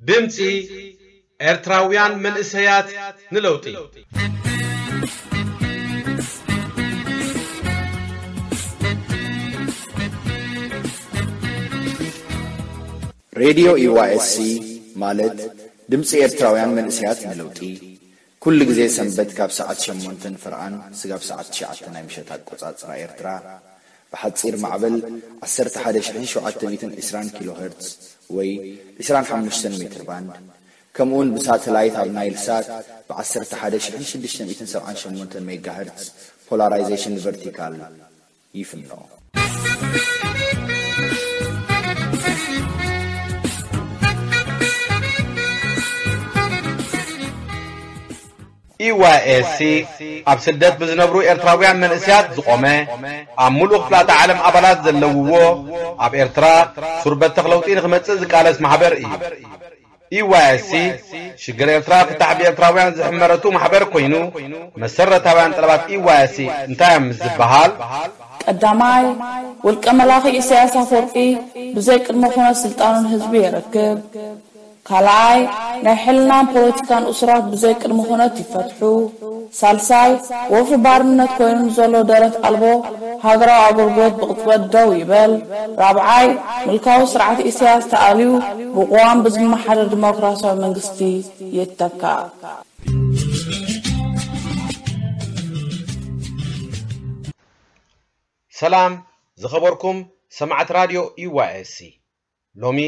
ድምጺ ኤርትራውያን መንእሰያት ንለውጢ። ሬድዮ ኢዋኤስሲ ማለት ድምፂ ኤርትራውያን መንእሰያት ንለውጢ፣ ኩሉ ግዜ ሰንበት ካብ ሰዓት ሸሞንተ ፍርቓን ስጋብ ሰዓት ትሽዓተ ናይ ምሸት ኣቆጻጽራ ኤርትራ፣ ብሓጺር ማዕበል ዓሰርተ ሓደ ሺሕን ሸውዓተ ሚእትን ዕስራን ኪሎ ሄርትዝ ወይ ዕስራን ሓሙሽተን ሜትር ባንድ፣ ከምኡውን ብሳተላይት ኣብ ናይል ሳት ብ ዓሰርተ ሓደ ሺሕን ሽዱሽተ ሚእትን ሰብዓን ሸሞንተን ሜጋ ሄርትዝ ፖላራይዜሽን ቨርቲካል ይፍኖ። ኢዋይኤስሲ ኣብ ስደት ብዝነብሩ ኤርትራውያን መንእሰያት ዝቖመ፣ ኣብ ሙሉእ ክፍላተ ዓለም ኣባላት ዘለውዎ፣ ኣብ ኤርትራ ሱር በተኽ ለውጢ ንኽመጽእ ዝቃለስ ማሕበር እዩ። ኢዋይኤስሲ ሽግር ኤርትራ ፍታሕ ብኤርትራውያን ዝሕመረቱ ማሕበር ኮይኑ፣ መሰረታውያን ጠለባት ኢዋይኤስሲ እንታይ እዮም ምስ ዝበሃል፣ ቀዳማይ፣ ውልቀ መላኺ ኢሳያስ ኣፈወርቂ ብዘይ ቅድመ ኩነት ስልጣኑ ንህዝቢ የረክብ። ካልኣይ፣ ናይ ሕልናን ፖለቲካን እሱራት ብዘይ ቅድመ ኩነት ይፈትሑ። ሳልሳይ፣ ወፍሪ ባርነት ኮይኑ ንዘሎ ደረት ኣልቦ ሃገራዊ ኣገልግሎት ብቕጽበት ደው ይበል። ራብዓይ፣ ምልካዊ ስርዓት ኢሳያስ ተኣልዩ ብቅዋም ብዝመሓደር ዲሞክራሲያዊ መንግስቲ ይተካእ። ሰላም ዝኸበርኩም ሰማዕቲ ራድዮ ኢዋይኤስሲ፣ ሎሚ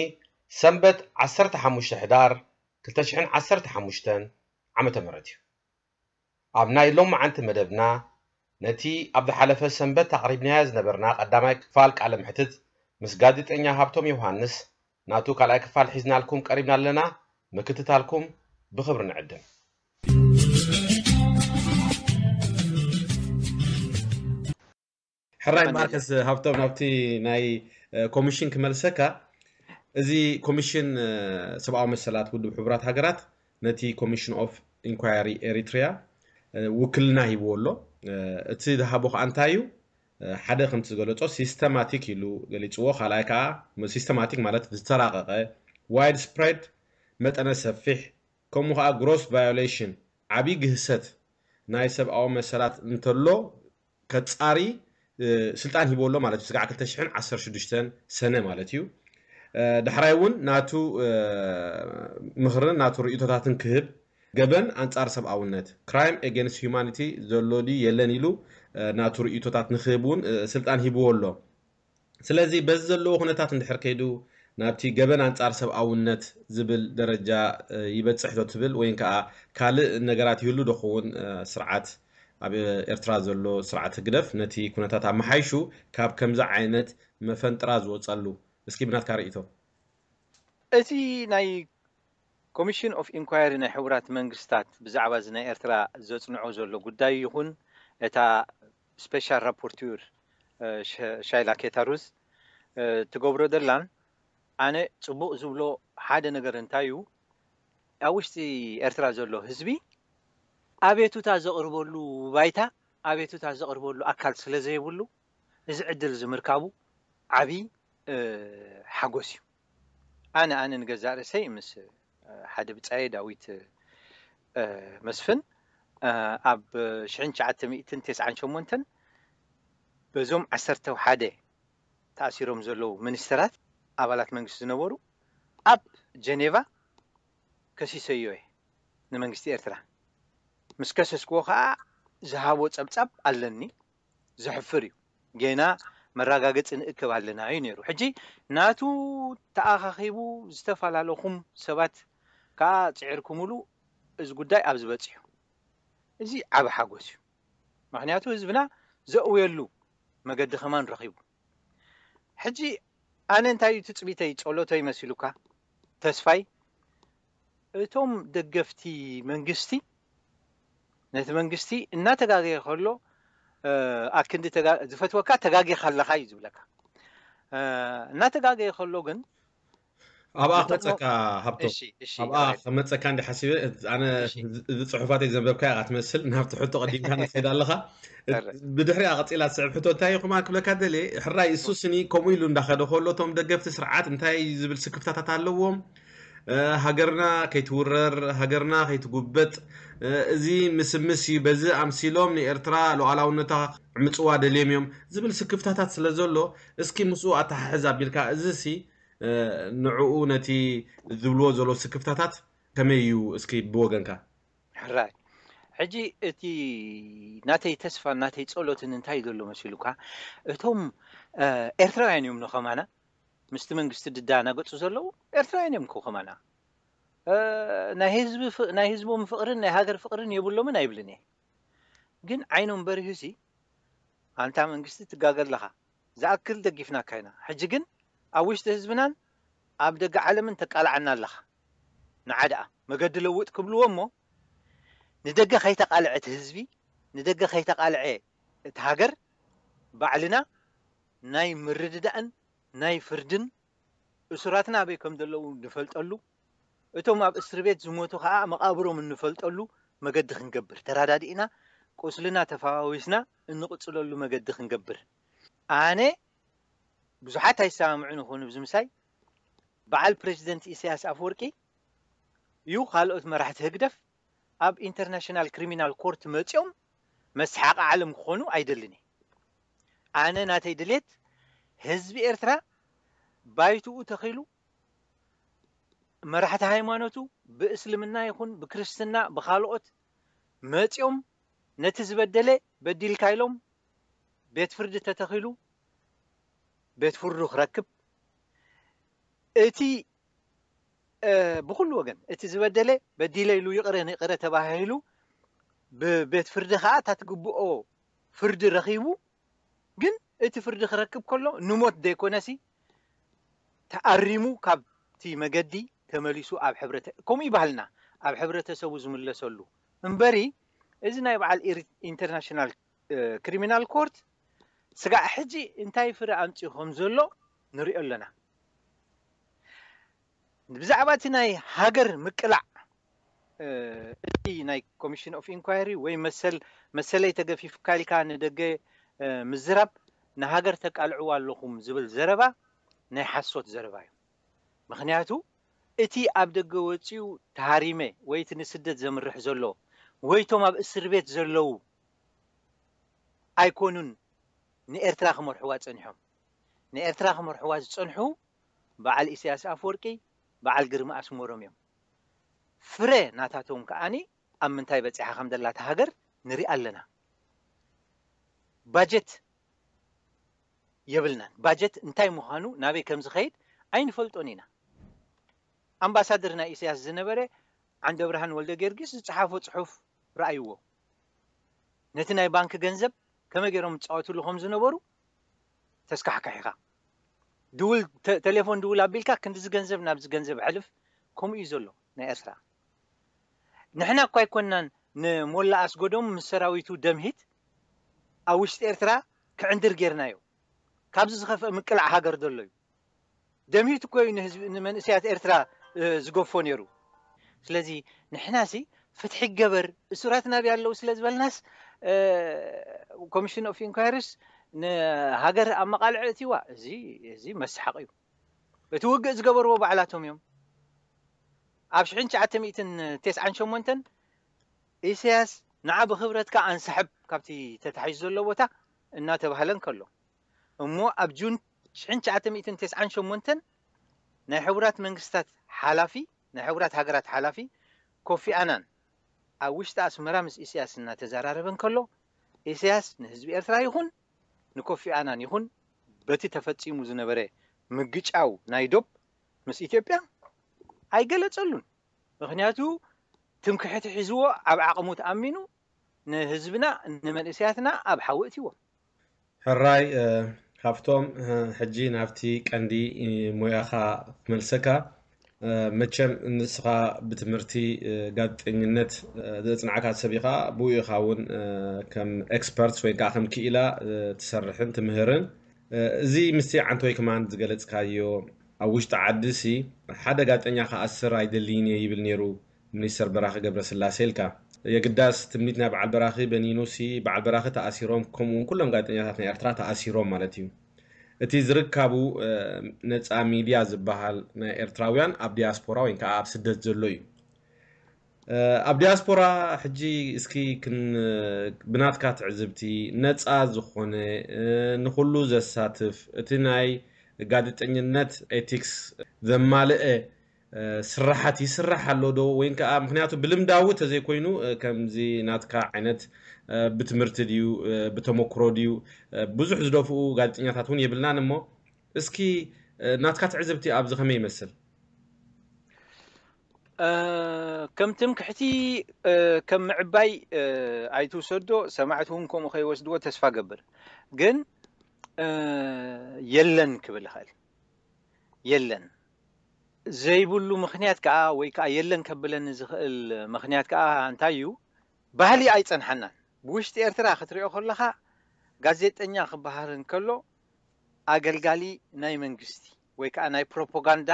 ሰንበት ዓሰርተ ሓሙሽተ ሕዳር ክልተ ሽሕን ዓሰርተ ሓሙሽተን ዓመተ ምህረት እዩ። ኣብ ናይ ሎማዓንቲ መደብና፣ ነቲ ኣብ ዝሓለፈ ሰንበት ኣቕሪብናዮ ዝነበርና ቀዳማይ ክፋል ቃለ መሕትት ምስ ጋዜጠኛ ሃብቶም ዮሃንስ፣ ናቱ ካልኣይ ክፋል ሒዝናልኩም ቀሪብና ኣለና። ምክትታልኩም ብኽብሪ ንዕድም። ሕራይ ማርከስ ሃብቶም፣ ናብቲ ናይ ኮሚሽን ክመልሰካ። እዚ ኮሚሽን ሰብኣዊ መሰላት ውድብ ሕቡራት ሃገራት ነቲ ኮሚሽን ኦፍ ኢንኳየሪ ኤሪትሪያ ውክልና ሂብዎ ኣሎ። እቲ ዝሃቦ ከዓ እንታይ እዩ? ሓደ ከምቲ ዝገለጾ ሲስተማቲክ ኢሉ ገሊጽዎ። ካልኣይ ከዓ ሲስተማቲክ ማለት ዝተራቐቐ፣ ዋይድ ስፕሬድ፣ መጠነ ሰፊሕ፣ ከምኡ ከዓ ግሮስ ቫዮሌሽን፣ ዓብዪ ግህሰት ናይ ሰብኣዊ መሰላት እንተሎ ከጻሪ ስልጣን ሂብዎ ኣሎ ማለት እዩ። ስጋዕ ክልተ ሽሕን ዓሰርተ ሽዱሽተን ሰነ ማለት እዩ። ዳሕራይ እውን ናቱ ምኽርን ናቱ ርእይቶታትን ክህብ፣ ገበን ኣንጻር ሰብኣውነት፣ ክራይም ኤጌንስት ሂዩማኒቲ፣ ዘሎ ድዩ የለን ኢሉ ናቱ ርእይቶታት ንክህብ እውን ስልጣን ሂብዎ ኣሎ። ስለዚ በዚ ዘለዎ ኩነታት እንድሕር ከይዱ ናብቲ ገበን ኣንጻር ሰብኣውነት ዝብል ደረጃ ይበጽሕ ዶ ትብል፣ ወይን ከዓ ካልእ ነገራት ይህሉ ዶ ክኸውን? ስርዓት ኣብ ኤርትራ ዘሎ ስርዓት ህግደፍ ነቲ ኩነታት ኣመሓይሹ ካብ ከምዚ ዓይነት መፈንጥራ ዝወጸሉ፣ እስኪ ብናትካ ርእይቶ። እቲ ናይ ኮሚሽን ኦፍ ኢንኳየሪ ናይ ሕቡራት መንግስታት ብዛዕባ እዚ ናይ ኤርትራ ዘጽንዖ ዘሎ ጉዳይ ይኹን እታ ስፔሻል ራፖርቲር ሻይላ ኬታሩዝ ትገብሮ ዘላን ኣነ ጽቡቕ ዝብሎ ሓደ ነገር እንታይ እዩ፣ ኣብ ውሽጢ ኤርትራ ዘሎ ህዝቢ ኣቤቱታ ዘቕርበሉ ባይታ፣ ኣቤቱታ ዘቕርበሉ ኣካል ስለ ዘይብሉ እዚ ዕድል እዚ ምርካቡ ዓቢ ሓጎስ እዩ። ኣነ ኣነ ንገዛእ ርእሰይ ምስ ሓደ ብጻየ ዳዊት መስፍን ኣብ ሽሕን ትሽዓተ ሚእትን ተስዓን ሸሞንተን በዞም ዓሰርተ ሓደ ተኣሲሮም ዘለዉ ሚኒስተራት ኣባላት መንግስቲ ዝነበሩ ኣብ ጀኔቫ ከሲሰዮ እየ ንመንግስቲ ኤርትራ። ምስ ከሰስክዎ ከዓ ዝሃቦ ጸብጻብ ኣለኒ። ዘሕፍር እዩ። ጌና መረጋገጺ ንእክብ ኣለና እዩ ነይሩ። ሕጂ ናቱ ተኣኻኺቡ ዝተፈላለኹም ሰባት ከዓ ጽዒርኩምሉ እዚ ጉዳይ ኣብዚ በጺሑ። እዚ ዓቢ ሓጎስ እዩ። ምኽንያቱ ህዝብና ዘእውየሉ መገዲ ከማን ረኺቡ። ሕጂ ኣነ እንታይ እዩ ትጽቢተይ፣ ጸሎተይ መሲሉካ፣ ተስፋይ፣ እቶም ደገፍቲ መንግስቲ ነቲ መንግስቲ እናተጋገየ ከሎ ኣክንዲ ዝፈትወካ ተጋጊኻ ኣለኻ እዩ ዝብለካ። እናተጋገየ ከሎ ግን ኣብኣ ክመፀካ ሃብቶ ኣብኣ ክመፀካ እንዲ ሓሲበ ኣነ እዚ ፅሑፋተይ ዘንበብካ ኢኻ ትመስል ናብቲ ሕቶ ቀዲምካ ንትኸይድ ኣለኻ። ብድሕሪኣ ቀፂላ ዝስዕብ ሕቶ እንታይ እዩ ክማ ክብለካ ደልየ፣ ሕራይ እሱ ስኒ ከምኡ ኢሉ እንዳኸደ ከሎ እቶም ደገፍቲ ስርዓት እንታይ ዝብል ስክፍታታት ኣለዎም? ሃገርና ከይትውረር፣ ሃገርና ከይትጉበጥ፣ እዚ ምስምስ እዩ፣ በዚ ኣምሲሎም ንኤርትራ ሉዓላውነታ ዕምፅዋ ደልዮም እዮም ዝብል ስክፍታታት ስለ ዘሎ፣ እስኪ ምስኡ ኣተሓሕዝ ኣቢልካ፣ እዚ ሲ ንዕኡ ነቲ ዝብልዎ ዘሎ ስክፍታታት ከመይ እዩ እስኪ ብወገንካ? ሕራይ ሕጂ እቲ ናተይ ተስፋን ናተይ ጸሎትን እንታይ ዘሎ መሲሉካ? እቶም ኤርትራውያን እዮም ንኸማና ምስቲ መንግስቲ ድዳናገጹ ዘለዉ ኤርትራውያን እዮም ከማና። ናይ ህዝቦም ፍቕርን ናይ ሃገር ፍቕርን የብሎምን ኣይብልን እየ። ግን ዓይኖም በሪሁሲ ኣንታ መንግስቲ ትጋገ ኣለኻ፣ ዝኣክል ደጊፍናካ ኢና። ሕጂ ግን ኣብ ውሽጢ ህዝብናን ኣብ ደገ ዓለምን ተቃልዓና ኣለኻ። ንዓ ደኣ መገዲ ለውጥ ክብልዎ እሞ ንደገ ከይተቃልዐ እቲ ህዝቢ፣ ንደገ ከይተቃልዐ እቲ ሃገር፣ ባዕልና ናይ ምርድዳእን ናይ ፍርድን እሱራትና ኣበይ ከም ዘለዉ ንፈልጠሉ፣ እቶም ኣብ እስር ቤት ዝሞቱ ከዓ መቃብሮም እንፈልጠሉ መገዲ ክንገብር፣ ተራዳዲእና ቁስልና ተፈዋዊስና እንቕፅለሉ መገዲ ክንገብር። ኣነ ብዙሓት ኣይሰማምዑን ይኾኑ ብዚ ምሳይ፣ በዓል ፕሬዚደንት ኢሳያስ ኣፈወርቂ እዩ ካልኦት መራሕቲ ህግደፍ ኣብ ኢንተርናሽናል ክሪሚናል ኮርት መፂኦም መስሓቂ ዓለም ክኾኑ ኣይደልን እየ። ኣነ ናተይ ድሌት ህዝቢ ኤርትራ ባይትኡ ተኺሉ መራሕቲ ሃይማኖቱ ብእስልምና ይኹን ብክርስትና ብኻልኦት መፂኦም ነቲ ዝበደለ በዲልካ ኢሎም ቤት ፍርዲ ተተኺሉ ቤት ፍርዱ ክረክብ፣ እቲ ብኩሉ ወገን እቲ ዝበደለ በዲለ ኢሉ ይቕረ ንይቕረ ተባሂሉ ብቤት ፍርዲ ከዓ እታ ትግብኦ ፍርዲ ረኺቡ፣ ግን እቲ ፍርዲ ክረክብ ከሎ ንሞት ዘይኮነሲ ተኣሪሙ ካብቲ መገዲ ተመሊሱ ኣብ ሕብረተ ከምኡ ይባህልና ኣብ ሕብረተሰቡ ዝምለሰሉ እምበሪ፣ እዚ ናይ በዓል ኢንተርናሽናል ክሪሚናል ኮርት ስጋዕ ሕጂ እንታይ ፍረ ኣምፅኡ ከም ዘሎ ንሪኦ ኣለና። ብዛዕባ እቲ ናይ ሃገር ምቅላዕ እቲ ናይ ኮሚሽን ኦፍ ኢንኳይሪ ወይ መሰል መሰለይ ተገፊፍካ ኢልካ ንደገ ምዝራብ ንሃገር ተቃልዕዋ ኣለኹም ዝብል ዘረባ ናይ ሓሶት ዘረባ እዩ። ምክንያቱ እቲ ኣብ ደገ ወፂኡ ተሃሪመ ወይ እቲ ንስደት ዘምርሕ ዘሎ ወይ እቶም ኣብ እስር ቤት ዘለዉ ኣይኮኑን ንኤርትራ ክመርሕዋ ፀኒሖም። ንኤርትራ ክመርሕዋ ዝፀንሑ በዓል ኢሳያስ ኣፈወርቂ፣ በዓል ግርማ ኣስመሮም እዮም። ፍረ ናታቶም ከዓኒ ኣብ ምንታይ በፂሓ ከም ዘላ እታ ሃገር ንሪኣ ኣለና። ባጀት የብልናን። ባጀት እንታይ ምዃኑ ናበይ ከም ዝኸይድ ኣይንፈልጦን ኢና። ኣምባሳደር ናይ ኢሳያስ ዝነበረ ዓንደብርሃን ወልደ ጊዮርጊስ ዝፀሓፎ ፅሑፍ ረኣይዎ። ነቲ ናይ ባንክ ገንዘብ ከመይ ገይሮም ዝፃወትሉ ከም ዝነበሩ ተስካሕካሒኻ ድውል ቴሌፎን ድውል ኣቢልካ ክንዲዚ ገንዘብ ናብዚ ገንዘብ ሕልፍ ከምኡ እዩ ዘሎ ናይ ኤርትራ። ንሕና እኳ ኣይኮንናን ንሞላ ኣስጎዶም ምስ ሰራዊቱ ደምሂት ኣብ ውሽጢ ኤርትራ ክዕንድር ጌርናዮ። ካብዚ ዝኸፍአ ምቅላዕ ሃገር ዘሎ እዩ። ደምሂት እኮ እዩ ንህዝቢ ንመንእሰያት ኤርትራ ዝገፎ ነይሩ። ስለዚ ንሕናሲ ፍትሒ ገበር እሱራት ናብይ ኣለዉ ስለ ዝበልናስ ኮሚሽን ኦፍ ኢንኳይሪስ ንሃገር ኣብ መቓልዕ እቲዋ እዚ እዚ መስሓቕ እዩ። እቲ ውግእ ዝገበርዎ ባዕላቶም እዮም። ኣብ ሽሕን ትሽዓተ ሚእትን ተስዓን ሸሞንተን ኢሳያስ ንዓ ብክብረትካ ኣንስሕብ ካብቲ ተታሒዙ ዘሎ ቦታ እናተባህለ እንከሎ እሞ ኣብ ጁን ሽሕን ትሽዓተ ሚእትን ተስዓን ሸሞንተን ናይ ሕቡራት መንግስታት ሓላፊ ናይ ሕቡራት ሃገራት ሓላፊ ኮፊ ኣናን ኣብ ውሽጢ ኣስመራ ምስ ኢሳያስ እናተዘራረበ እንከሎ ኢሳያስ ንህዝቢ ኤርትራ ይኹን ንኮፊ ኣናን ይኹን በቲ ተፈጺሙ ዝነበረ ምግጫው ናይ ዶብ ምስ ኢትዮጵያ ኣይገለጸሉን። ምክንያቱ ትምክሕቲ ሒዝዎ ኣብ ዓቕሙ ተኣሚኑ ንህዝብና ንመንእሰያትና ኣብ ሓዊ እትዎ። ሕራይ ካብቶም ሕጂ ናብቲ ቀንዲ ሞያኻ ክመልሰካ መቸም ንስኻ ብትምህርቲ ጋዜጠኝነት ዘፅናዕካ ሰብ ኢኻ ብኡ ኢኻ እውን ከም ኤክስፐርት ወይ ከዓ ከም ክኢላ ትሰርሕን ትምህርን እዚ ምስቲ ዓንቶይ ክማን ዝገለፅካዮ ኣብ ውሽጢ ዓዲ ሲ ሓደ ጋዜጠኛ ክኣስር ኣይደልይን እየ ይብል ነይሩ ሚኒስተር በራኺ ገብረስላሴ ኢልካ የግዳስ ትምኒት ናይ በዓል በራኺ በኒኑ ሲ በዓል በራኺ ተኣሲሮም ከምኡ እውን ኩሎም ጋዜጠኛታት ናይ ኤርትራ ተኣሲሮም ማለት እዩ እቲ ዝርካቡ ነፃ ሚድያ ዝበሃል ናይ ኤርትራውያን ኣብ ዲያስፖራ ወይ ከዓ ኣብ ስደት ዘሎ እዩ። ኣብ ዲያስፖራ ሕጂ እስኪ ብናትካ ትዕዝብቲ፣ ነፃ ዝኾነ ንኩሉ ዘሳትፍ፣ እቲ ናይ ጋዜጠኝነት ኤቲክስ ዘማልአ ስራሓት ይስራሕ ኣሎ ዶ? ወይ ከዓ፣ ምክንያቱ ብልምዳዊ ተዘይኮይኑ፣ ከምዚ ናትካ ዓይነት ብትምህርቲ ድዩ፣ ብተመክሮ ድዩ፣ ብዙሕ ዝደፍኡ ጋዜጠኛታት እውን የብልናን እሞ፣ እስኪ ናትካ ትዕዝብቲ ኣብዚ ከመይ ይመስል? ከም ትምክሕቲ፣ ከም ምዕባይ ኣይትውሰዶ፣ ሰማዕቲ እውን ከምኡ ከይወስድዎ ተስፋ ገብር። ግን የለን ክብል ይኽእል። የለን ዘይብሉ ምክንያት ከዓ፣ ወይ ከዓ የለን ከብለኒ ዝኽእል ምክንያት ከዓ እንታይ እዩ? ባህሊ ኣይፀንሓናን። ብውሽጢ ኤርትራ ክትሪኦ ከለኻ፣ ጋዜጠኛ ክበሃል እንከሎ ኣገልጋሊ ናይ መንግስቲ ወይ ከዓ ናይ ፕሮፓጋንዳ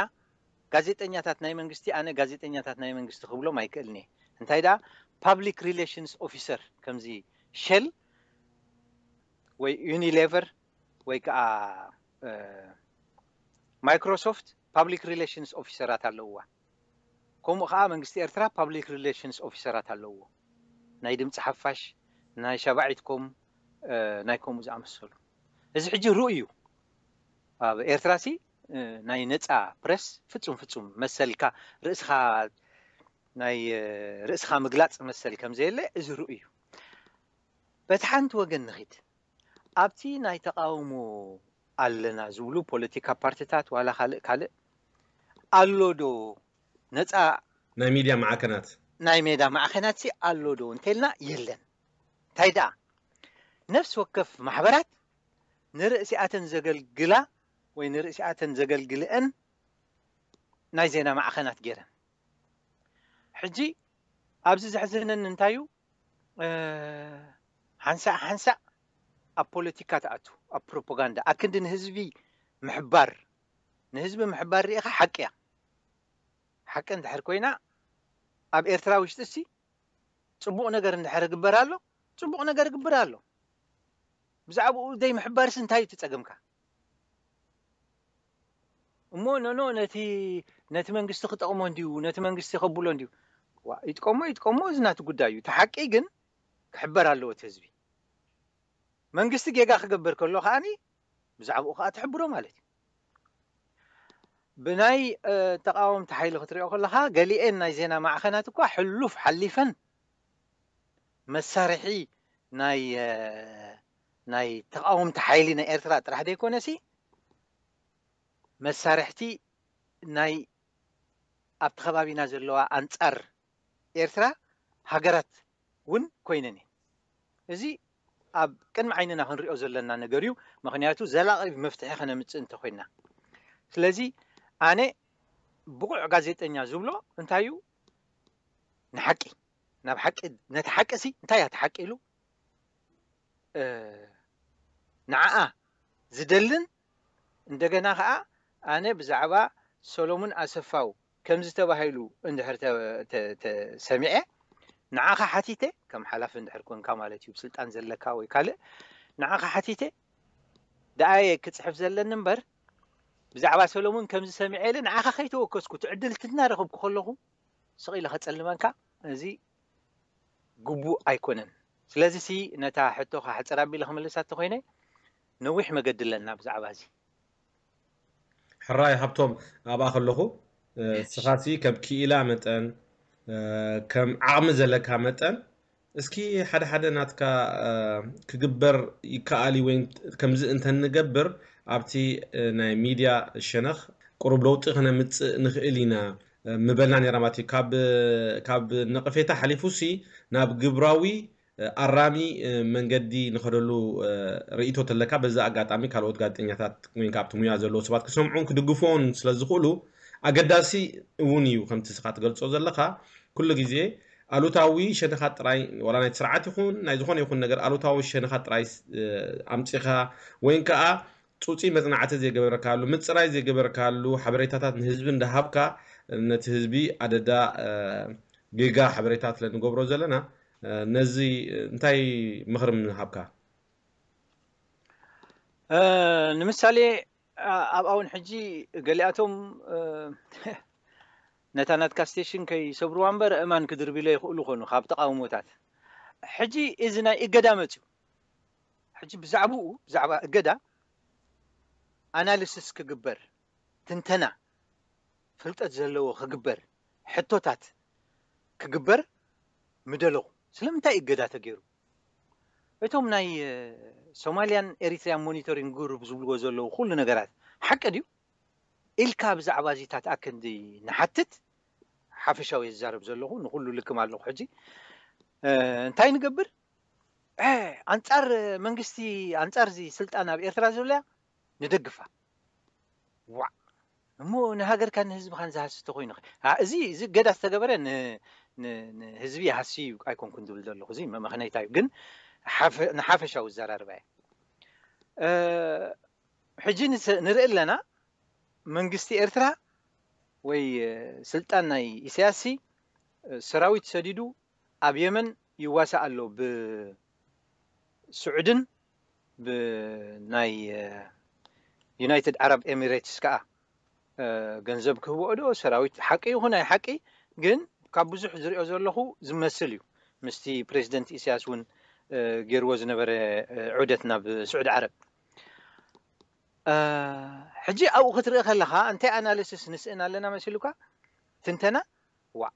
ጋዜጠኛታት ናይ መንግስቲ፣ ኣነ ጋዜጠኛታት ናይ መንግስቲ ክብሎም ኣይክእልን እየ። እንታይ ደኣ፣ ፓብሊክ ሪሌሽንስ ኦፊሰር፣ ከምዚ ሸል ወይ ዩኒሌቨር ወይ ከዓ ማይክሮሶፍት ፓብሊክ ሪሌሽንስ ኦፊሰራት ኣለውዋ። ከምኡ ከዓ መንግስቲ ኤርትራ ፓብሊክ ሪሌሽንስ ኦፊሰራት ኣለውዎ። ናይ ድምፂ ሓፋሽ፣ ናይ ሸባዒት ኮም፣ ናይ ከምኡ ዝኣመሰሉ። እዚ ሕጂ ርኡ እዩ። ኣብ ኤርትራ ሲ ናይ ነፃ ፕረስ ፍጹም ፍጹም መሰልካ ርእስኻ ናይ ርእስኻ ምግላፅ መሰል ከም ዘየለ እዚ ርኡ እዩ። በቲ ሓንቲ ወገን ንኺድ፣ ኣብቲ ናይ ተቃውሞ ኣለና ዝብሉ ፖለቲካ ፓርቲታት ዋላ ካልእ ካልእ ኣሎ ዶ ነፃ ናይ ሚድያ ማዕከናት? ናይ ሜዳ ማዕኸናት ሲ ኣሎ ዶ እንተልና የለን። እንታይ ደኣ፣ ነፍሲ ወከፍ ማሕበራት ንርእሲኣተን ዘገልግላ ወይ ንርእሲኣተን ዘገልግልአን ናይ ዜና ማዕኸናት ገይረን። ሕጂ ኣብዚ ዘሕዝነኒ እንታይ እዩ? ሓንሳእ ሓንሳእ ኣብ ፖለቲካ ትኣቱ፣ ኣብ ፕሮፓጋንዳ ኣክንዲ ንህዝቢ ምሕባር፣ ንህዝቢ ምሕባር ርኢኻ ሓቂ እያ። ሓቂ እንድሕር ኮይና ኣብ ኤርትራ ውሽጢ ሲ ፅቡቕ ነገር እንድሕር ግበር ኣሎ፣ ፅቡቕ ነገር ግብር ኣሎ። ብዛዕባኡ ደይ ምሕባርስ እንታይ እዩ እቲ ፀገምካ? እሞ ኖኖ ነቲ ነቲ መንግስቲ ክጠቕሞ እንድዩ፣ ነቲ መንግስቲ ከብሎ እንድዩ። ዋ፣ ይጥቀሞ ይጥቀሞ፣ እዚ ናቲ ጉዳይ እዩ። እቲ ሓቂ ግን ክሕበር ኣለዎ እቲ ህዝቢ። መንግስቲ ጌጋ ክገብር ከሎ ከዓኒ ብዛዕባኡ ከዓ ትሕብሮ ማለት እዩ። ብናይ ተቃወምቲ ሓይሊ ክትሪኦ ከለካ፣ ገሊኤን ናይ ዜና ማዕኸናት እኳ ሕሉፍ ሓሊፈን መሳርሒ ናይ ናይ ተቃወምቲ ሓይሊ ናይ ኤርትራ ጥራሕ ዘይኮነሲ፣ መሳርሕቲ ናይ ኣብቲ ከባቢና ዘለዋ ኣንጻር ኤርትራ ሃገራት እውን ኮይነን እየን። እዚ ኣብ ቅድሚ ዓይንና ክንሪኦ ዘለና ነገር እዩ። ምክንያቱ ዘላቂ መፍትሒ ከነምፅእ እንተኮይና፣ ስለዚ ኣነ ብቑዕ ጋዜጠኛ ዝብሎ እንታይ እዩ? ንሓቂ፣ ናብ ሓቂ፣ ነቲ ሓቂ ሲ እንታይ እያ እቲ ሓቂ ኢሉ ንዓኣ ዝደልን፣ እንደገና ከዓ ኣነ ብዛዕባ ሰሎሙን ኣሰፋው ከምዚ ተባሂሉ እንድሕር ሰሚዐ፣ ንዓኻ ሓቲተ፣ ከም ሓላፊ እንድሕር ኮንካ ማለት እዩ፣ ስልጣን ዘለካ ወይ ካልእ፣ ንዓኻ ሓቲተ ደኣየ ክፅሕፍ ዘለኒ እምበር፣ ብዛዕባ ሰሎሙን ከምዚ ሰሚዐ ኢለ ንዓኻ ከይተወከስኩ፣ ትዕድልቲ እናረኸብኩ ከለኹ ስቕ ኢለ ከፀልመካ፣ እዚ ግቡእ ኣይኮነን። ስለዚ ሲ ነታ ሕቶኻ ሕፅር ኣቢለ ክምልሳ እንተኮይነ፣ ነዊሕ መገዲ ኣለና ብዛዕባ እዚ። ሕራይ ሃብቶም፣ ኣብኣ ከለኹ፣ ንስኻሲ ከም ክኢላ መጠን፣ ከም ዓቕሚ ዘለካ መጠን፣ እስኪ ሓደ ሓደ ናትካ ክግበር ይከኣል እዩ ወይ ከምዚ እንተንገብር ኣብቲ ናይ ሚድያ ሸነኽ ቁሩብ ለውጢ ከነምፅእ ንኽእል ኢና ምበልና ነይራ ማለት እዩ። ካብ ነቐፌታ ሓሊፉ ሲ ናብ ግብራዊ ኣራሚ መንገዲ ንኸደሉ ርእይቶ ተለካ፣ በዚ ኣጋጣሚ ካልኦት ጋዜጠኛታት ወይ ካብቲ ሙያ ዘለዉ ሰባት ክሰምዑን ክድግፍዎን ስለ ዝኽእሉ ኣገዳሲ እውን እዩ። ከምቲ ስኻ ትገልጾ ዘለኻ፣ ኩሉ ግዜ ኣሉታዊ ሸነኻት ጥራይ፣ ዋላ ናይቲ ስርዓት ይኹን ናይ ዝኾነ ይኹን ነገር ኣሉታዊ ሸነኻት ጥራይ ኣምጺኻ፣ ወይን ከኣ ጹጺ መጽናዕቲ ዘይገበርካሉ፣ ምጽራይ ዘይገበርካሉ ሓበሬታታት ንህዝቢ እንዳሃብካ፣ ነቲ ህዝቢ ኣደዳ ጌጋ ሓበሬታት ስለ ንገብሮ ዘለና፣ ነዚ እንታይ ምኽሪ ምሃብካ? እ፣ ንምሳሌ፣ ኣ-፣ ኣብኣ እውን ሕጂ ገሊኣቶም፣ እ፣ ነታ ናትካ ስቴሽን ከይሰብርዋ እምበር እማን ክድርብለ ይኽእሉ ኾኑ ካብ ተቓውሞታት። ሕጂ እዚ ናይ እገዳ መፅዩ። ሕጂ ብዛዕባኡ፣ ብዛዕባ እገዳ ኣናሊሲስ ክግበር፣ ትንተና፣ ፍልጠት ዘለዎ ክግበር፣ ሕቶታት ክግበር ምደለኹ። ስለምንታይ እገዳ ተገይሩ? እቶም ናይ፣ እ፣ ሶማሊያን ኤሪትሪያን ሞኒቶሪንግ ግሩፕ ዝብልዎ ዘለዉ ኩሉ ነገራት ሓቂ ድዩ ኢልካ ብዛዕባ እዚታት ኣክንዲ ንሓትት፣ ሓፈሻዊ ዝዛረብ ዘለኹ፣ ንኹሉ ልክም ኣለኹ። ሕጂ፣ እ፣ እንታይ ንገብር? እ፣ ኣንጻር መንግስቲ፣ ኣንጻር እዚ ስልጣን ኣብ ኤርትራ ዘለያ ንደግፋ። ዋዕ! እሞ ንሃገርካን ንህዝብኻን ዝሃሲ ተኾይኑ ኸ? ኣ፣ እዚ፣ እዚ እገዳ ዝተገበረ ን-፣ ን-፣ ንህዝቢ ይሃሲ እዩ ኣይኮንኩን ዝብል ዘለኹ። እዚ መመኽነይታ እዩ። ግን ሓፈ-፣ ንሓፈሻዊ ዘራርባ እየ። እ፣ ሕጂ ንስ-፣ ንርኢ ኣለና፣ መንግስቲ ኤርትራ ወይ፣ እ፣ ስልጣን ናይ ኢሳያስሲ፣ እ፣ ሰራዊት ሰዲዱ ኣብ የመን ይዋሳእ ኣሎ። ብስዑድን ብናይ፣ እ፣ ዩናይትድ ዓረብ ኤሚሬትስ ከኣ፣ እ፣ ገንዘብ ክህብኦ ዶ ሰራዊት ሓቂ ይኹን ኣይ ሓቂ፣ ግን ካብ ብዙሕ ዝሪኦ ዘለኹ ዝመስል እዩ። ምስቲ ፕሬዚደንት ኢሳያስ እውን፣ እ፣ ገይርዎ ዝነበረ፣ እ፣ ዑደት ናብ ስዑዲ ዓረብ። እ፣ ሕጂ ኣብኡ ክትርኢ ከለኻ እንታይ ኣናሊሲስ ንስእን ኣለና መሲሉካ? ትንተና? ዋዕ!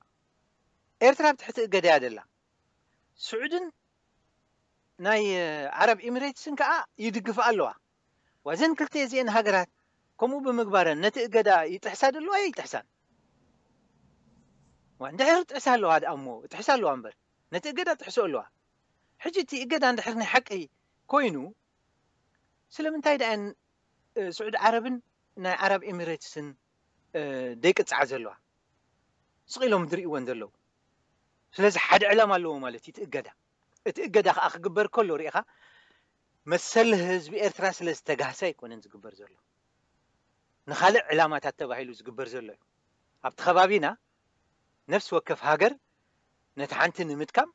ኤርትራ ኣብ ትሕቲ እገዳ እያ ደላ። ስዑድን ናይ፣ እ፣ ዓረብ ኤሚሬትስን ከኣ ይድግፋ ኣለዋ። ዋዘን ክልተ እዚአን ሃገራት ከምኡ ብምግባረን ነቲ እገዳ ይጥሕሳ ደለዋ ይጥሕሳን? ዋ፣ እንድሕር ጥሕሳ ኣለዋ ደኣ እሞ፣ ጥሕሳ ኣለዋ እምበር፣ ነቲ እገዳ ጥሕሶ ኣለዋ። ሕጂ እቲ እገዳ እንድሕር ናይ ሓቂ ኮይኑ፣ ስለምንታይ ደኣን፣ እ፣ ስዑዲ ዓረብን ናይ ዓረብ ኤሚሬትስን፣ እ፣ ደይቅጽዓ ዘለዋ? ስቕ ኢሎም ዝርእይወን ዘለዉ። ስለዚ ሓደ ዕላማ ኣለዎ ማለት እዩ እቲ እገዳ። እቲ እገዳ ከኣ ክግበር ከሎ ርኢኻ፣ መሰል ህዝቢ ኤርትራ ስለ ዝተጋህሰ ኣይኮነን ዝግበር ዘሎ። ንኻልእ ዕላማታት ተባሂሉ ዝግበር ዘሎ እዩ። ኣብቲ ከባቢና ነፍሲ ወከፍ ሃገር ነቲ ሓንቲ ንምድካም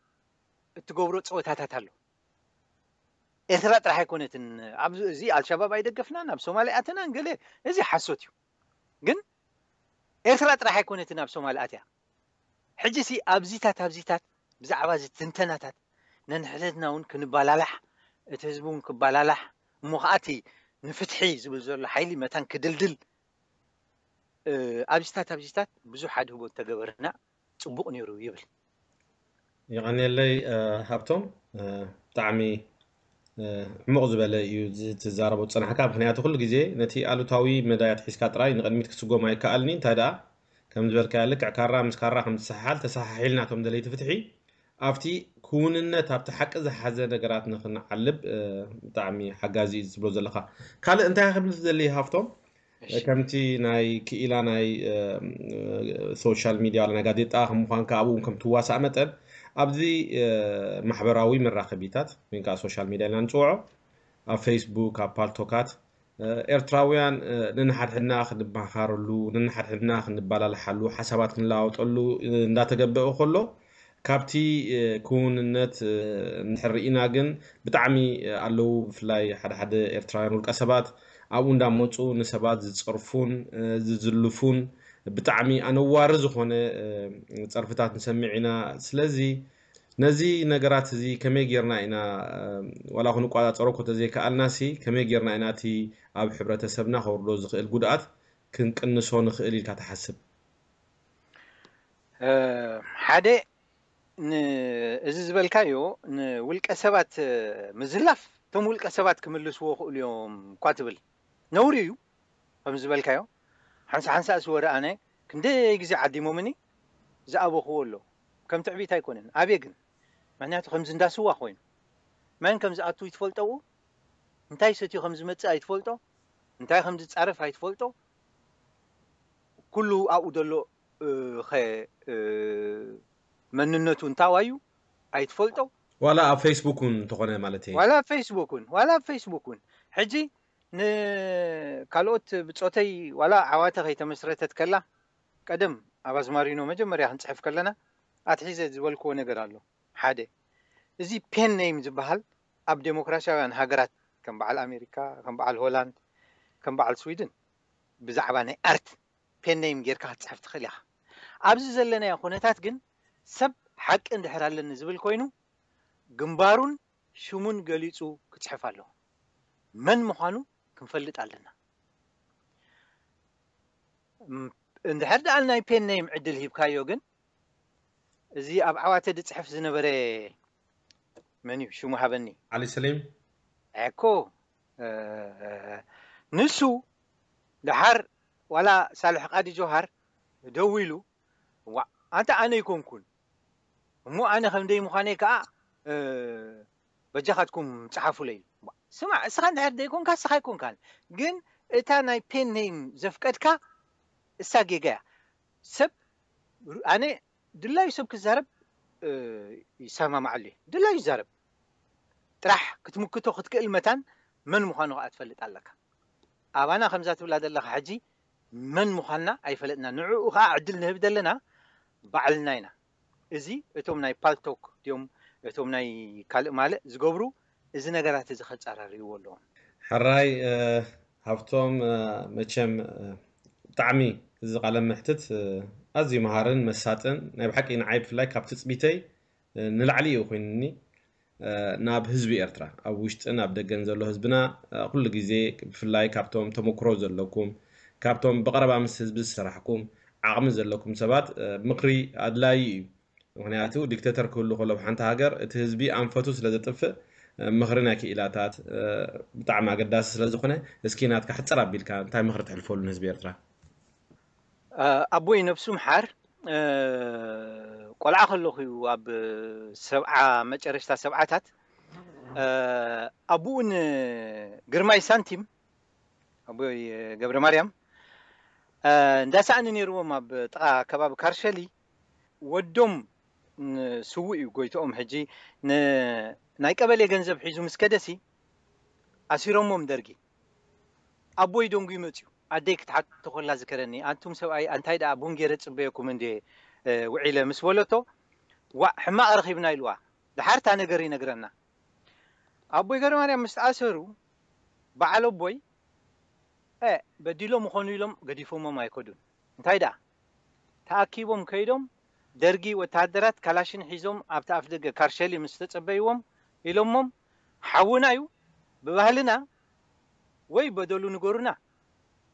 እትገብሮ ጸወታታት ኣሎ። ኤርትራ ጥራሕ ኣይኮነትን። ኣብዚ፣ እዚ ኣልሸባብ ኣይደገፍናን፣ ኣብ ሶማልያ ኣተናን ገለ፣ እዚ ሓሶት እዩ። ግን ኤርትራ ጥራሕ ኣይኮነትን ኣብ ሶማል ኣትያ። ሕጂ ሲ ኣብዚታት፣ ኣብዚታት ብዛዕባ እዚ ትንተናታት ነንሕድሕድና እውን ክንባላላሕ፣ እቲ ህዝቢ እውን ክባላላሕ፣ እሞ ከኣ እቲ ንፍትሒ ዝብል ዘሎ ሓይሊ መታን ክድልድል፣ እ፣ ኣብዚታት፣ ኣብዚታት ብዙሕ ኣድህቦ እንተገበርና ጽቡቕ ነይሩ ይብል። የቐንየለይ፣ እ፣ ሃብቶም፣ እ፣ ብጣዕሚ፣ እ፣ ዕሙቕ ዝበለ እዩ እዚ ትዛረቦ ዝጸናሕካ። ምኽንያቱ ኩሉ ግዜ ነቲ ኣሉታዊ መዳያት ሒዝካ ጥራይ ንቕድሚት ክስጎም ኣይከኣልኒ። እንታይ ደኣ፣ ከም ዝበልካዮ ልክዕ ካራ ምስ ካራ ከም ዝሰሓሓል ተሰሓሒልና፣ እቶም ደለይቲ ፍትሒ ኣብቲ ክውንነት፣ ኣብቲ ሓቂ ዝሓዘ ነገራት ንኽንዓልብ፣ እ፣ ብጣዕሚ ሓጋዚ እዩ ዝብሎ ዘለኻ። ካልእ እንታይ ክብል ዝደሊ ሃብቶም? እሺ። ከምቲ ናይ ክኢላ ናይ፣ እ፣ ሶሻል ሚድያ፣ ናይ ጋዜጣ ከም ምዃንካ ኣብኡ እውን ከም ትዋሳእ መጠን፣ ኣብዚ፣ እ፣ ማሕበራዊ መራኸቢታት ወይ ከዓ ሶሻል ሚድያ ኢልና ንፅውዖ፣ ኣብ ፌስቡክ፣ ኣብ ፓልቶካት፣ እ፣ ኤርትራውያን፣ እ፣ ነንሓድሕድና ክንመኻኸረሉ፣ ነንሓድሕድና ክንባላልሓሉ፣ ሓሳባት ክንለዋወጠሉ፣ እ፣ እንዳተገበአ ከሎ፣ ካብቲ፣ እ፣ ክውንነት፣ እ፣ እንድሕር ርኢና ግን ብጣዕሚ፣ እ፣ ኣለዉ። ብፍላይ ሓደ ሓደ ኤርትራውያን ውልቀ ሰባት ኣብኡ እንዳመፁ ንሰባት ዝፀርፉን፣ እ፣ ዝዝልፉን ብጣዕሚ ኣነዋሪ ዝኾነ፣ እ፣ ፀርፍታት ንሰምዕ ኢና። ስለዚ ነዚ ነገራት እዚ ከመይ ጌርና ኢና፣ እ፣ ዋላ ክንቆፃፀሮ እኮ ተዘይከኣልናሲ፣ ከመይ ጌርና ኢና እቲ ኣብ ሕብረተሰብና ከውርዶ ዝኽእል ጉድኣት ክንቅንሶ ንኽእል ኢልካ ትሓስብ? እ፣ ሓደ፣ ን-፣ እዚ ዝበልካዮ ንውልቀ ሰባት፣ እ፣ ምዝላፍ፣ እቶም ውልቀ ሰባት ክምልስዎ ክእሉ እዮም እኳ ትብል። ነውሪ እዩ፣ ከም ዝበልካዮ። ሓንሳ ሓንሳ እሲ ወረ ኣነ ክንደይ ግዜ ዓዲሞምኒ ዝኣበኽዎ ኣሎ። ከም ትዕቢት ኣይኮነን፣ ኣብየ ግን። ምኽንያቱ ከምዚ እንዳስዋ ኮይኑ። መን ከም ዝኣቱ ይትፈልጦ፣ እንታይ ሰትዩ ከም ዝመጽእ ኣይትፈልጦ፣ እንታይ ከም ዝጻረፍ ኣይትፈልጦ። ኩሉ ኣብኡ ዘሎ፣ እ፣ ኸ-፣ እ፣ መንነቱ እንታዋዩ ኣይትፈልጦ። ዋላ ኣብ ፌስቡክ እውን እንተኾነ ማለት እየ። ዋላ ኣብ ፌስቡክ እውን፣ ዋላ ኣብ ፌስቡክ እውን። ሕጂ ንካልኦት ብጾተይ ዋላ ዓዋተ ከይተመስረተት ከላ፣ ቀደም ኣብ ኣዝማሪኖ መጀመርያ ክንጽሕፍ ከለና ኣትሒዘ ዝበልክዎ ነገር ኣሎ። ሓደ፣ እዚ ፔን ኔም ዝበሃል ኣብ ዴሞክራሲያውያን ሃገራት ከም በዓል ኣሜሪካ፣ ከም በዓል ሆላንድ፣ ከም በዓል ስዊድን ብዛዕባ ናይ ኣርት ፔን ኔም ጌርካ ክትፅሕፍ ትኽእል ኢኻ። ኣብዚ ዘለናዮ ኩነታት ግን ሰብ ሓቂ እንድሕር ኣለኒ ዝብል ኮይኑ ግንባሩን ሽሙን ገሊፁ ክፅሕፍ ኣለዎ። መን ምዃኑ ክንፈልጥ ኣለና። እም፣ እንድሕር ደኣ ናይ ፔን ኔም ዕድል ሂብካዮ ግን እዚ ኣብ ዓዋተ ድፅሕፍ ዝነበረ መን እዩ ሽሙ ሃበኒ? ዓሊ ሰሊም። እኮ፣ እ፣ ንሱ ደሓር ዋላ ሳልሕ ቃዲ ጆሃር ደዊሉ፣ "ዋ፣ ኣንታ ኣነ ኣይኮንኩን እሞ ኣነ ከም ደይ ምዃነይ ከኣ፣ እ፣ በጃኻትኩም ጸሓፉለይ" ኢሉ። ዋ፣ ስማዕ፣ እስኻ እንድሕር ደይኮንካ እስኻ ኣይኮንካን። ግን እታ ናይ ፔን ኔም ዘፍቀድካ እሳ ጌጋ እያ። ሰብ ሩ-፣ ኣነ ድላዩ ሰብ ክዛረብ፣ እ፣ ይሰማማዓሉ እየ። ድላዩ ይዛረብ። ጥራሕ ክትምክቶ ክትክእል መታን መን ምዃኑ ከኣ ትፈልጥ ኣለካ። ኣባና ከምዛ ትብላ ዘለኻ ሕጂ መን ምዃንና ኣይፈለጥና። ንዕኡ ከኣ ዕድል ንህብ ዘለና ባዕልና ኢና። እዚ እቶም ናይ ፓልቶክ ድዮም እቶም ናይ ካልእ ማልእ ዝገብሩ እዚ ነገራት እዚ ከጻራርይዎ ኣለዎም። ሕራይ፣ እ፣ ሃብቶም፣ እ፣ መቸም፣ እ፣ ብጣዕሚ እዚ ቃለ መሕትት፣ እ፣ ኣዝዩ መሃርን መሳጥን ናይ ብሓቂ ንዓይ ብፍላይ ካብ ትጽቢተይ፣ እ፣ ንላዕሊ እዩ ኮይኑኒ። እ፣ ናብ ህዝቢ ኤርትራ ኣብ ውሽጥን ኣብ ደገን ዘሎ ህዝብና፣ እ፣ ኩሉ ግዜ ብፍላይ ካብቶም ተመክሮ ዘለኩም፣ ካብቶም ብቐረባ ምስ ህዝቢ ዝሰራሕኩም ዓቕሚ ዘለኩም ሰባት፣ እ፣ ምኽሪ ኣድላዪ እዩ። ምኽንያቱ ዲክተተር ክህሉ ከሎ ኣብ ሓንቲ ሃገር እቲ ህዝቢ ኣንፈቱ ስለ ዘጥፍእ፣ እ፣ ምኽሪ ናይ ክኢላታት፣ እ፣ ብጣዕሚ ኣገዳሲ ስለ ዝኾነ፣ እስኪ ናትካ ሕጽር ኣቢልካ እንታይ ምኽሪ ተሕልፈሉ ንህዝቢ ኤርትራ? እ፣ ኣቦይ ነብሱ ምሓር፣ እ፣ ቆልዓ ከለኹ እዩ ኣብ ሰብዓ መጨረሽታ ሰብዓታት፣ እ፣ ኣቦኡን ግርማይ ሳንቲም፣ ኣቦይ ገብረ ማርያም፣ እ፣ እንዳሰኣኒ ነይርዎም ኣብ ጥቓ ከባቢ ካርሸሊ። ወዶም ን-፣ ስዉእ እዩ ጎይትኦም። ሕጂ ን-፣ ናይ ቀበሌ ገንዘብ ሒዙ ምስ ከደሲ ኣሲሮሞም ደርጊ። ኣቦይ ደንጉዩ መጽዩ። ኣደይ ክትሓቶ ከላ ዝከረኒ፣ "ኣንቱም ሰብኣይ፣ ኣንታይ ደኣ ቡን ገይረ ጽበየኩም እንዴ፣ እ፣ ውዒለ?" ምስ በለቶ፣ "ዋእ፣ ሕማቕ ረኺብና" ኢልዋ። ደሓር እታ ነገር ይነግረና። ኣቦይ ገብረ ማርያም ምስ ተኣሰሩ፣ በዓል ኣቦይ፣ እ፣ በዲሎም ይኾኑ ኢሎም ገዲፎሞም ኣይከዱን። እንታይ ደኣ፣ ተኣኪቦም ከይዶም፣ ደርጊ ወተሃደራት ካላሽን ሒዞም ኣብቲ ኣፍ ደገ ካርሸሊ ምስ ተጸበይዎም ኢሎሞም፣ "ሓውና እዩ፣ ብባህልና ወይ በደሉ ንገሩና፣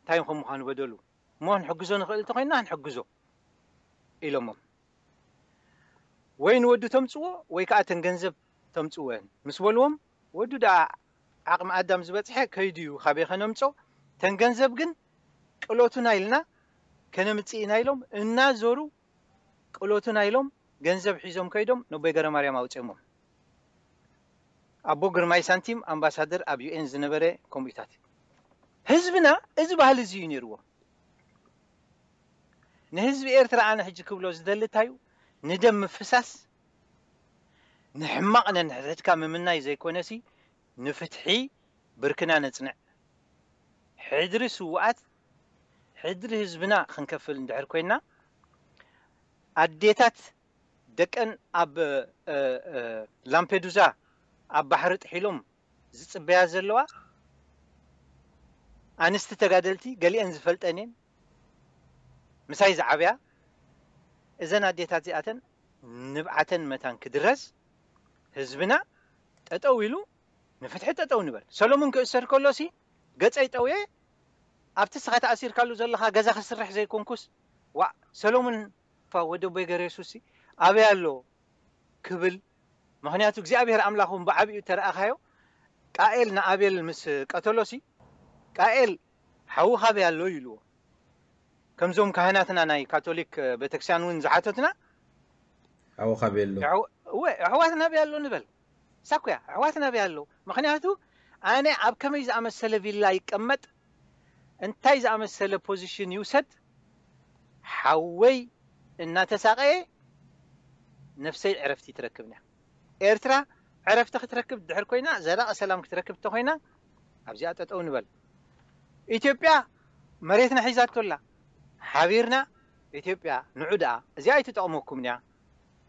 እንታይ ከም ምዃኑ በደሉ፣ እሞ ክንሕግዞ ንኽእል እንተኾይንና ክንሕግዞ" ኢሎሞም። "ወይ ንወዱ ተምጽዎ ወይ ከኣ ተን ገንዘብ ተምጽወን" ምስ በልዎም፣ ወዱ ደኣ ዓቕሚ ኣዳም ዝበጽሐ ከይዱ እዩ፣ ካበይ ከነምጾ? "ተን ገንዘብ ግን ቅሎቱና ኢልና ከነምጽእ ኢና" ኢሎም እናዞሩ ቅሎቱና ኢሎም ገንዘብ ሒዞም ከይዶም ነቦይ ገረማርያም ኣውጺኦሞም። ኣቦ ግርማይ ሳንቲም ኣምባሳደር ኣብ ዩ ኤን ዝነበረ ከምኡታት። ህዝብና እዚ ባህሊ እዚ እዩ ነይርዎ። ንህዝቢ ኤርትራ ኣነ ሕጂ ክብሎ ዝደሊ እንታይ እዩ? ንደም ምፍሳስ፣ ንሕማቕ ነንሕድሕድካ ምምናይ ዘይኮነሲ፣ ንፍትሒ ብርክና ነጽንዕ። ሕድሪ ስዉኣት፣ ሕድሪ ህዝብና ክንከፍል እንድሕር ኮይንና፣ ኣዴታት ደቀን ኣብ፣ እ፣ እ፣ ላምፔዱዛ ኣብ ባሕሪ ጥሒሎም ዝጽበያ ዘለዋ ኣንስቲ ተጋደልቲ፣ ገሊአን ዝፈልጠን እየን፣ ምሳይ ዝዓብያ፣ እዘን ኣዴታት እዚኣተን ንብዓተን መታን ክድረስ፣ ህዝብና ጠጠው ኢሉ ንፍትሒ ጠጠው ንበል። ሰሎሙን ክእሰር ከሎሲ ገጸይ ጠውየ፣ ኣብቲ ስኻ ተኣሲርካሉ ዘለኻ ገዛ ክስርሕ ዘይኮንኩስ፣ ዋእ፣ ሰሎሙን ፋ ወደ ቦይ ገሬሱሲ ኣበይ ኣሎ ክብል፣ ምኽንያቱ እግዚኣብሔር ኣምላኽ እውን ብዓቢኡ ተረኣኻዮ፣ ቃኤል ንኣቤል ምስ ቀተሎሲ፣ ቃኤል ሓውኻ ኣበይ ኣሎ ኢልዎ። ከምዞም ካህናትና ናይ ካቶሊክ ቤተክርስትያን እውን ዝሓተትና፣ ሓውኻ ኣበይ ኣሎ? ኣሕዋ-፣ እወ፣ ኣሕዋትና ኣበይ ኣሎ ንበል። ሳኩያ፣ ኣሕዋትና ኣበይ ኣሎ? ምኽንያቱ ኣነ ኣብ ከመይ ዝኣመሰለ ቪላ ይቀመጥ፣ እንታይ ዝኣመሰለ ፖዚሽን ይውሰድ፣ ሓወይ እናተሳቐየ ነፍሰይ ዕረፍቲ ትረክብን እያ። ኤርትራ ዕረፍቲ ክትረክብ ድሕር ኮይና፣ ዘላቒ ሰላም ክትረክብ እንተኾይና፣ ኣብዚኣ ጠጠው ንበል። ኢትዮጵያ መሬትና ሒዛቶ ኣላ። ሓቢርና ኢትዮጵያ ንዑ ደኣ፣ እዚኣ ኣይትጠቕመኩምን እያ።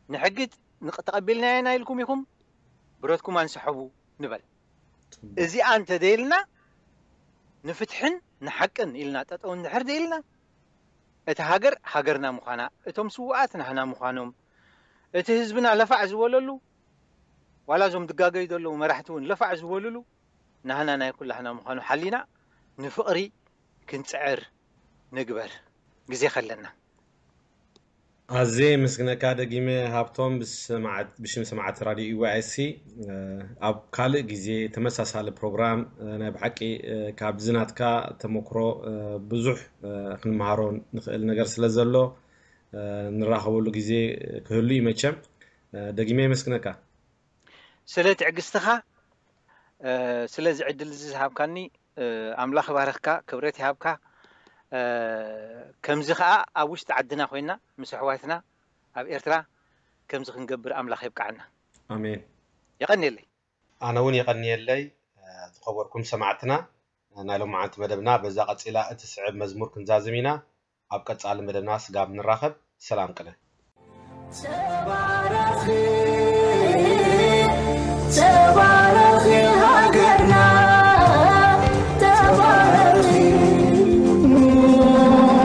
ንሕጊ ንቅ-፣ ተቐቢልናያ ኢና ኢልኩም ኢኹም፣ ብረትኩም ኣንስሐቡ ንበል። እዚኣ እንተደይልና፣ ንፍትሕን ንሓቅን ኢልና ጠጠው እንድሕር ደይልና፣ እቲ ሃገር ሃገርና ምዃና፣ እቶም ስውኣት ናህና ምዃኖም፣ እቲ ህዝብና ለፋዕ ዝበለሉ፣ ዋላ እዞም ድጋገዩ ዘለዉ መራሕቲ እውን ለፋዕ ዝበልሉ፣ ናህና ናይ ኩላህና ምዃኑ ሓሊና ንፍቕሪ ክንጽዕር ንግበር፣ ግዜ ከለና። ኣዜ ምስግነካ ደጊመ ሃብቶም፣ ብስማዓት- ብሽም ሰማዕቲ ራድዮ ኢዋኤስሲ። ኣብ ካልእ ግዜ ተመሳሳሊ ፕሮግራም፣ ናይ ብሓቂ ካብዚ ናትካ ተመክሮ ብዙሕ ክንመሃሮ ንኽእል ነገር ስለ ዘሎ፣ ንራኸበሉ ግዜ ክህሉ እዩ መቸም። ደጊመ የመስግነካ። ስለ ትዕግስትኻ፣ ስለዚ ዕድል እዚ ዝሃብካኒ፣ ኣምላኽ ይባርኽካ፣ ክብረት ይሃብካ። ከምዚ ኸኣ ኣብ ውሽጢ ዓድና ኮይና ምስ ኣሕዋትና ኣብ ኤርትራ ከምዚ ክንገብር ኣምላኽ የብቅዓና። ኣሜን። የቐንየለይ። ኣነ እውን የቐንየለይ። ዝኸበርኩም ሰማዕትና፣ ናይ ሎማዓንቲ መደብና በዛ ቀጺላ እትስዕብ መዝሙር ክንዛዝም ኢና። ኣብ ቀጻሊ መደብና ስጋብ ንራኸብ፣ ሰላም ቅነ። ተባረኺ፣ ተባረኺ ሃገርና፣ ተባረኺ፣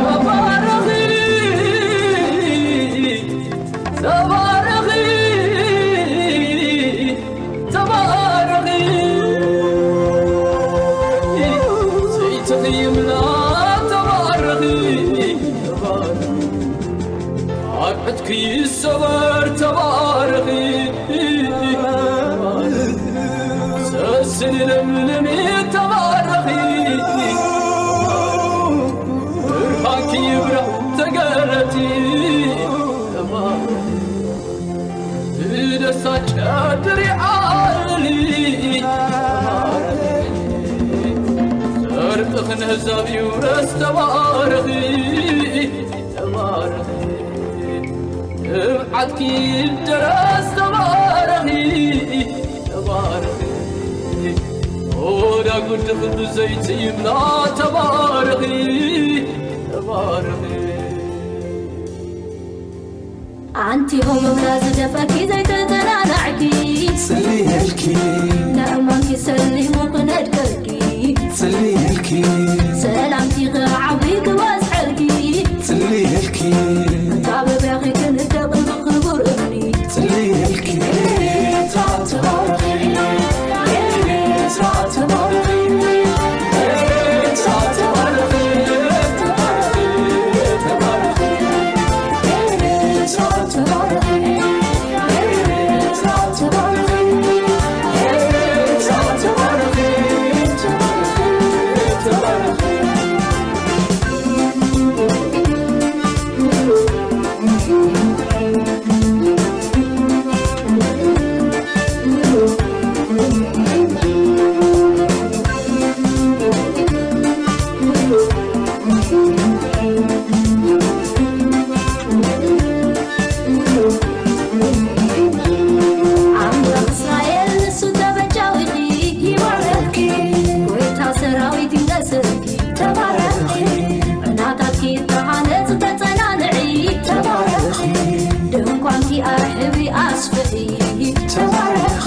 ተባረኺ፣ ተባረኺ፣ ተባረኺ፣ ዘይተኽይምና ተባረኺ፣ ተባረኺ። ኣርዕትኪ ይሰበር ተባረኺ፣ ሰስኒ ለምልሚ ተባረኺ፣ ብርሃንኪ ይብራህ ተገለጢ ተባረኺ። ብደስታ ጨድሪ ዓሊ ተባረኺ፣ ጽድቅኺ ንህዛብ ይውረስ ተባረኺ። ተባረኺ፣ ትብዓትኪ ይደረስ ተባረኺ፣ ተባረኺ። ኦዳ ጉድኺ ብዘይቲ ይምላ ተባረኺ፣ ተባረኺ። ኣንቲ ሆሞምና ዝደፈኪ ዘይተተናናዕኪ፣ ጽልየልኪ። ንእማንኪ ሰሊሙ ክነድቀኪ፣ ጽልየልኪ። ሰላምኪ ክዓቢ ክበዝሐልኪ፣ ጽልየልኪ። መታበቢያኺ ክንደቕ ብኽቡር እምኒ፣ ጽልየልኪ። ኤርትራ ተባረኺ፣ ኤርትራ ተባረኺ፣ ኤርትራ ተባረኺ፣ ተባረኺ፣ ተባረኺ። ኣምላኽ እስራኤል ንሱ ተበጃዊኺ ይባርኽኪ፣ ጎይታ ሰራዊት ይንገስልኪ ተባረኺ። ዕናታትኪ ተሃነጽ ተጸናንዒ ተባረኺ፣ ድንኳንኪ ኣርሕቢ ኣስፍሒ ተባረኺ።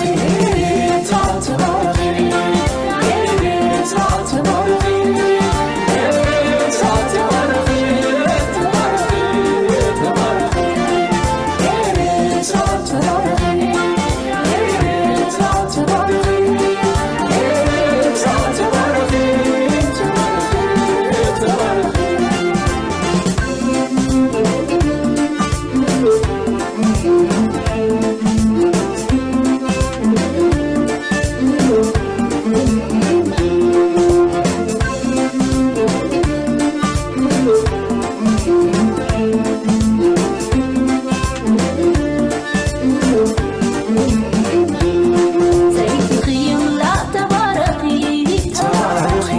ዘይትኽይምላ ተባረኺ፣ ተባረኺ።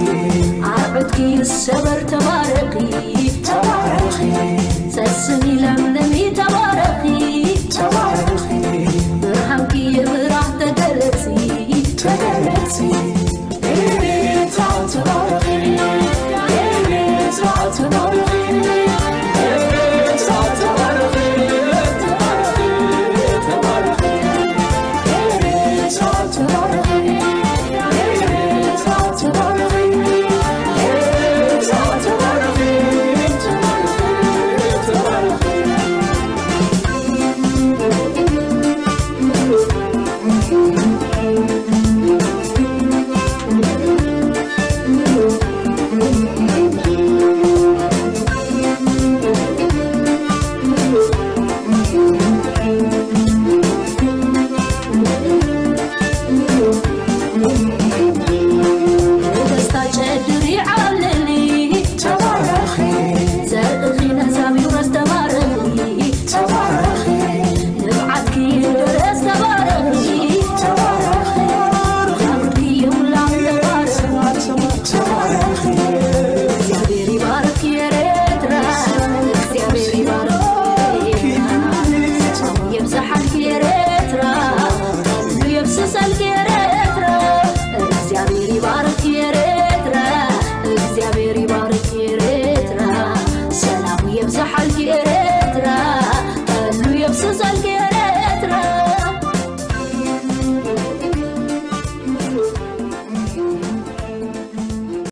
ኣርዑትኪ ይሰበር ተባረኺ፣ ተባረኺ። ሰስኒ ለምልሚ ተባረኺ፣ ተባረኺ። ብርሃንኪ ይብራህ ተገለጺ፣ ተገለጺ።